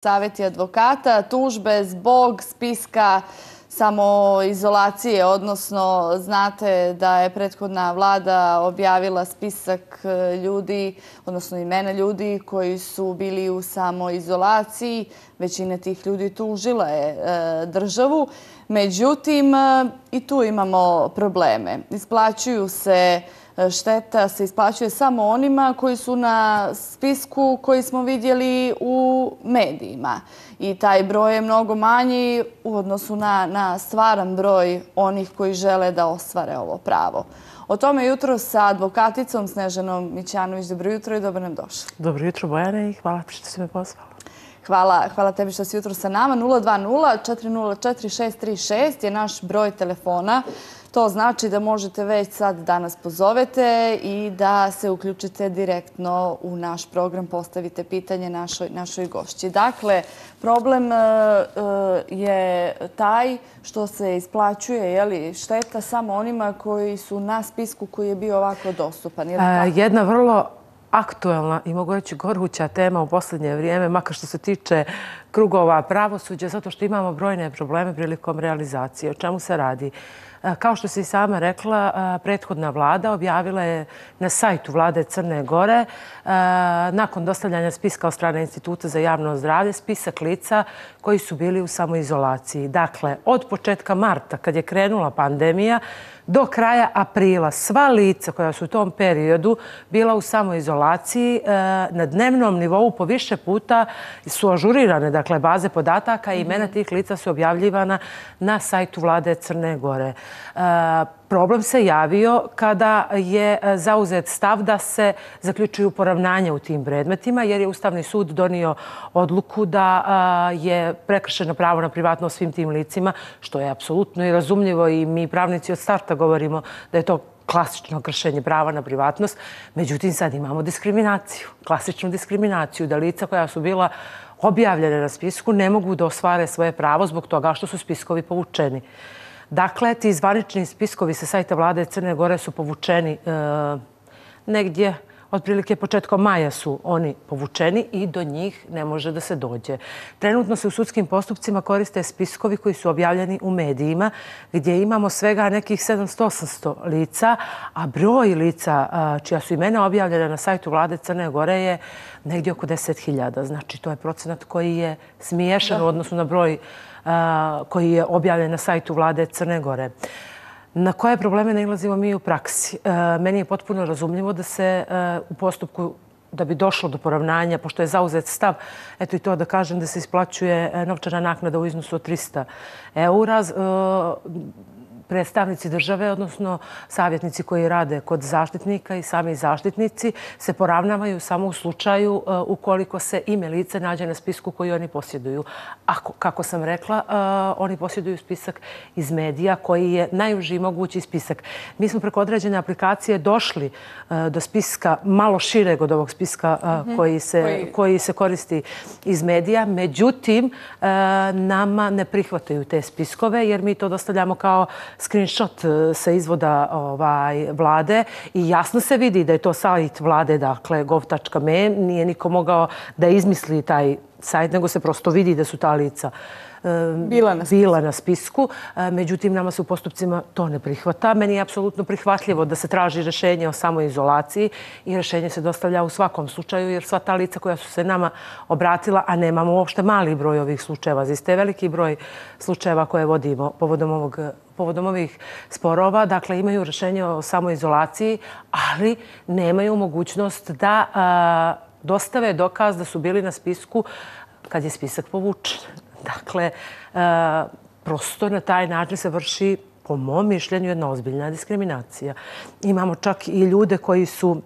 Savjeti advokata, tužbe zbog spiska samoizolacije, odnosno znate da je prethodna vlada objavila spisak ljudi, odnosno imena ljudi koji su bili u samoizolaciji. Većina tih ljudi tužila je državu. Međutim, i tu imamo probleme. Šteta se isplaćuje samo onima koji su na spisku koji smo vidjeli u medijima. I taj broj je mnogo manji u odnosu na stvaran broj onih koji žele da ostvare ovo pravo. O tome jutro sa advokaticom Snežanom Mićanović. Dobro jutro i dobro nam došli. Dobro jutro, Bojane, i hvala što si me pozvala. Hvala tebi što si jutro sa nama. 020-404-636 je naš broj telefona. To znači da možete već sad da nas pozovete i da se uključite direktno u naš program, postavite pitanje našoj gošći. Dakle, problem je taj što se isplaćuje šteta samo onima koji su na spisku koji je bio ovako dostupan. Jedna vrlo aktuelna i mogu reći goruća tema u posljednje vrijeme, makar što se tiče krugova pravosuđa, zato što imamo brojne probleme prilikom realizacije. O čemu se radi? Kao što si i sama rekla, prethodna vlada objavila je na sajtu vlade Crne Gore nakon dostavljanja spiska od strane Instituta za javno zdravlje spisak lica koji su bili u samoizolaciji. Dakle, od početka marta, kad je krenula pandemija, do kraja aprila sva lica koja su u tom periodu bila u samoizolaciji na dnevnom nivou po više puta su ažurirane, dakle, baze podataka i imena tih lica su objavljivana na sajtu vlade Crne Gore. Problem se javio kada je zauzet stav da se zaključuju poravnanja u tim predmetima, jer je Ustavni sud donio odluku da je prekršeno pravo na privatnost svim tim licima, što je apsolutno i razumljivo i mi pravnici od starta govorimo da je to klasično kršenje prava na privatnost. Međutim, sad imamo diskriminaciju, klasičnu diskriminaciju, da lica koja su bila objavljena na spisku ne mogu da ostvare svoje pravo zbog toga što su spiskovi povučeni. Dakle, ti zvanični spiskovi sa sajta vlade Crne Gore su povučeni negdje, otprilike početkom maja su oni povučeni i do njih ne može da se dođe. Trenutno se u sudskim postupcima koriste spiskovi koji su objavljeni u medijima, gdje imamo svega nekih 700-800 lica, a broj lica čija su imena objavljena na sajtu vlade Crne Gore je negdje oko 10.000. Znači, to je procenat koji je smiješan u odnosu na broj koji je objavljen na sajtu vlade Crne Gore. Na koje probleme nailazimo mi u praksi? Meni je potpuno razumljivo da se u postupku, da bi došlo do poravnanja, pošto je zauzet stav, eto i to da kažem da se isplaćuje novčana naknada u iznosu od 300 eura, predstavnici države, odnosno savjetnici koji rade kod zaštitnika i sami zaštitnici se poravnavaju samo u slučaju ukoliko se ime lica nađe na spisku koji oni posjeduju. Kako sam rekla, oni posjeduju spisak iz medija koji je najuži mogući spisak. Mi smo preko određene aplikacije došli do spiska malo šireg od ovog spiska koji se koristi iz medija. Međutim, nama ne prihvataju te spiskove jer mi to dostavljamo kao screenshot sa izvoda vlade i jasno se vidi da je to sajt vlade, dakle gov.me, nije niko mogao da izmisli taj sajt, nego se prosto vidi da su ta lica bila na spisku. Međutim, nama se u postupcima to ne prihvata. Meni je apsolutno prihvatljivo da se traži rješenje o samoizolaciji i rješenje se dostavlja u svakom slučaju, jer sva ta lica koja su se nama obratila, a nemamo uopšte mali broj ovih slučajeva, zaista je veliki broj slučajeva koje vodimo povodom ovih sporova. Dakle, imaju rješenje o samoizolaciji, ali nemaju mogućnost da dostave dokaz da su bili na spisku kad je spisak povučen. Dakle, prosto na taj način se vrši, po mom mišljenju, jedna ozbiljna diskriminacija. Imamo čak i ljude koji su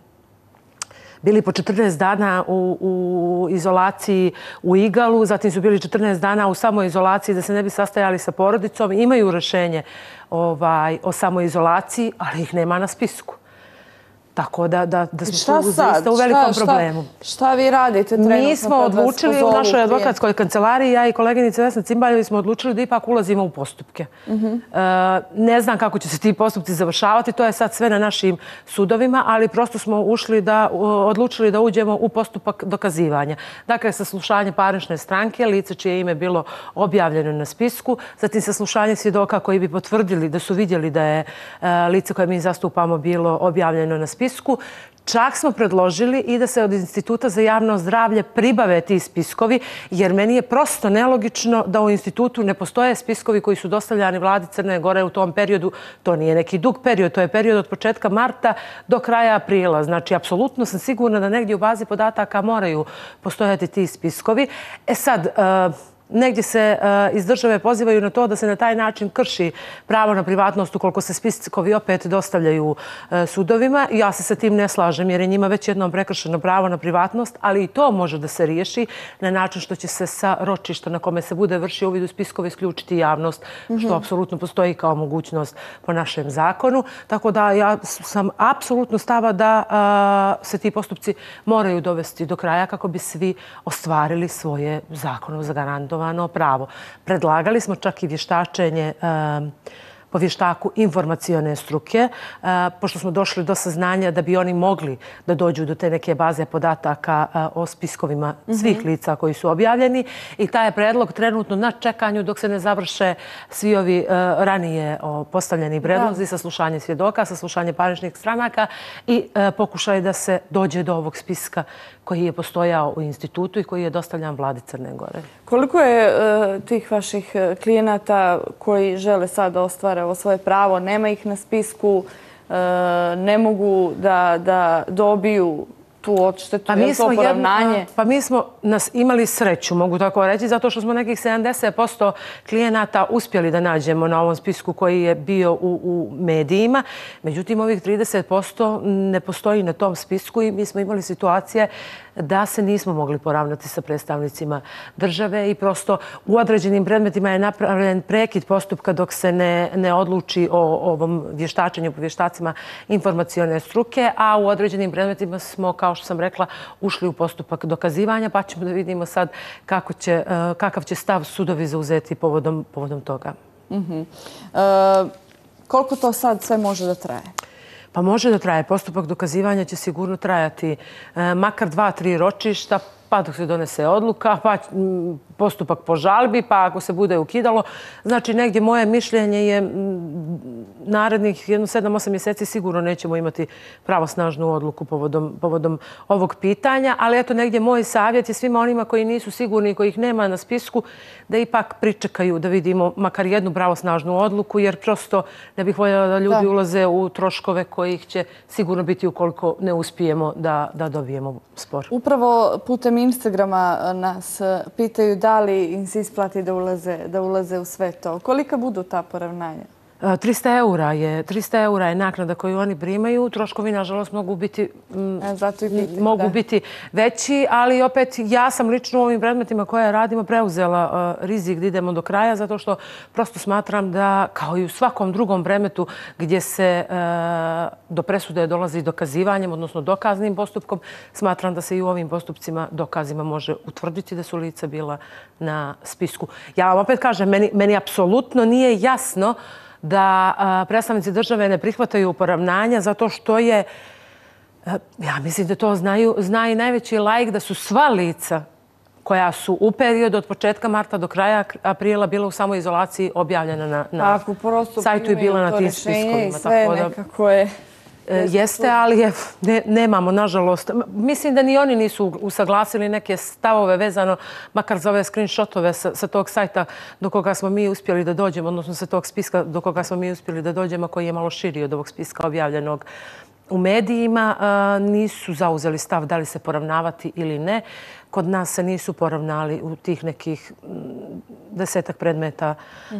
bili po 14 dana u izolaciji u Igalu, zatim su bili 14 dana u samoizolaciji da se ne bi sastajali sa porodicom. Imaju rješenje o samoizolaciji, ali ih nema na spisku. Tako da smo tu zaista u velikom problemu. Šta vi radite trenutno? Mi smo odlučili u našoj advokatskoj kancelariji, ja i koleginica Vesna Cimbaljević smo odlučili da ipak ulazimo u postupke. Ne znam kako će se ti postupci završavati, to je sad sve na našim sudovima, ali prosto smo odlučili da uđemo u postupak dokazivanja. Dakle, saslušanje parnične stranke, lice čije ime bilo objavljeno na spisku, zatim saslušanje svjedoka koji bi potvrdili da su vidjeli da je lice koje mi zastupamo bilo objavljeno na spisku. Čak smo predložili i da se od Instituta za javno zdravlje pribave ti spiskovi, jer meni je prosto nelogično da u institutu ne postoje spiskovi koji su dostavljani vladi Crne Gore u tom periodu. To nije neki dug period, to je period od početka marta do kraja aprila. Znači, apsolutno sam sigurna da negdje u bazi podataka moraju postojati ti spiskovi. Sad, negdje se iz države pozivaju na to da se na taj način krši pravo na privatnost ukoliko se spiskovi opet dostavljaju sudovima. Ja se sa tim ne slažem jer je njima već jednom prekršeno pravo na privatnost, ali i to može da se riješi na način što će se sa ročišta na kome se bude vršio uvid u spiskove isključiti javnost, što apsolutno postoji kao mogućnost po našem zakonu. Tako da ja sam apsolutno stava da se ti postupci moraju dovesti do kraja kako bi svi ostvarili svoje zakonom zagarantovano pravo. Predlagali smo čak i vještačenje po vještaku informacione struke, pošto smo došli do saznanja da bi oni mogli da dođu do te neke baze podataka o spiskovima svih lica koji su objavljeni. I taj je predlog trenutno na čekanju dok se ne završe svi ovi ranije postavljeni predlozi, saslušanje svjedoka, saslušanje parničnih stranaka i pokušaj da se dođe do ovog spiska koji je postojao u institutu i koji je dostavljan vladi Crne Gore. Koliko je tih vaših klijenata koji žele sad da ostvare ovo svoje pravo, nema ih na spisku, ne mogu da dobiju tu odštetu, je to poravnanje? Pa mi smo imali sreću, mogu tako reći, zato što smo nekih 70% klijenata uspjeli da nađemo na ovom spisku koji je bio u medijima. Međutim, ovih 30% ne postoji na tom spisku i mi smo imali situacije da se nismo mogli poravnati sa predstavnicima države i prosto u određenim predmetima je napravljen prekid postupka dok se ne odluči o ovom vještačenju po vještacima informacione struke, a u određenim predmetima smo, kao što sam rekla, ušli u postupak dokazivanja, pa ćemo da vidimo sad kakav će stav sudovi zauzeti povodom toga. Koliko to sad sve može da traje? Pa može da traje. Postupak dokazivanja će sigurno trajati makar 2-3 ročišta, pa dok se donese odluka, pa postupak po žalbi, pa ako se bude ukidalo. Znači, negdje moje mišljenje je narednih 7-8 mjeseci sigurno nećemo imati pravosnažnu odluku povodom ovog pitanja, ali eto, negdje moj savjet je svima onima koji nisu sigurni i kojih nema na spisku da ipak pričekaju da vidimo makar jednu pravosnažnu odluku, jer prosto ne bih voljela da ljudi ulaze u troškove kojih će sigurno biti ukoliko ne uspijemo da dobijemo spor. Upravo putem Instagrama nas pitaju da li im se isplati da ulaze u sve to. Kolika budu ta poravnanja? 300 eura je naknada koju oni primaju. Troškovi, nažalost, mogu biti veći, ali opet ja sam lično u ovim predmetima koje radimo preuzela rizik da idemo do kraja, zato što prosto smatram da, kao i u svakom drugom predmetu gdje se do presude dolazi dokazivanjem, odnosno dokaznim postupkom, smatram da se i u ovim postupcima dokazima može utvrditi da su lica bila na spisku. Ja vam opet kažem, meni apsolutno nije jasno da predstavnici države ne prihvataju poravnanja zato što je, ja mislim da to zna i najveći laik, da su sva lica koja su u periodu od početka marta do kraja aprila bila u samoizolaciji objavljena na sajtu i bila na tim spiskovima. Sve nekako je... Jeste, ali nemamo, nažalost. Mislim da ni oni nisu usaglasili neke stavove vezano, makar za ove screenshotove sa tog sajta do koga smo mi uspjeli da dođemo, odnosno sa tog spiska do koga smo mi uspjeli da dođemo, koji je malo širi od ovog spiska objavljenog u medijima. Nisu zauzeli stav da li se poravnavati ili ne. Kod nas se nisu poravnali u tih nekih 10 predmeta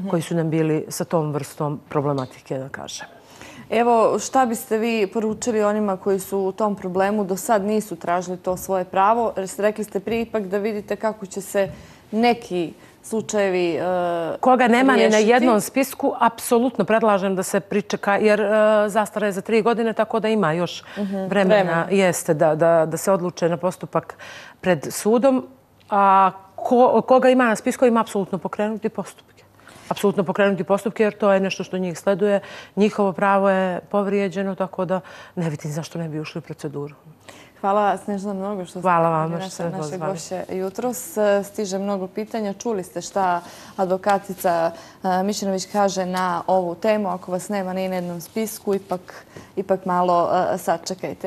koji su nam bili sa tom vrstom problematike, da kažem. Evo, šta biste vi poručili onima koji su u tom problemu do sad nisu tražili to svoje pravo? Rekli ste prije ipak da vidite kako će se neki slučajevi Koga nema ni na riješiti? jednom spisku, apsolutno predlažem da se pričeka, jer zastara je za 3 godine, tako da ima još vremena jeste da se odluče na postupak pred sudom. A koga ima na spiskovima, apsolutno pokrenuti postupke. Apsolutno pokrenuti postupke, jer to je nešto što njih sleduje. Njihovo pravo je povrijeđeno, tako da ne vidim zašto ne bi ušli u proceduru. Hvala Snežana mnogo što ste naše gošće jutros. Stiže mnogo pitanja. Čuli ste šta advokatica Mišinović kaže na ovu temu. Ako vas nema ni na jednom spisku, ipak malo sačekajte.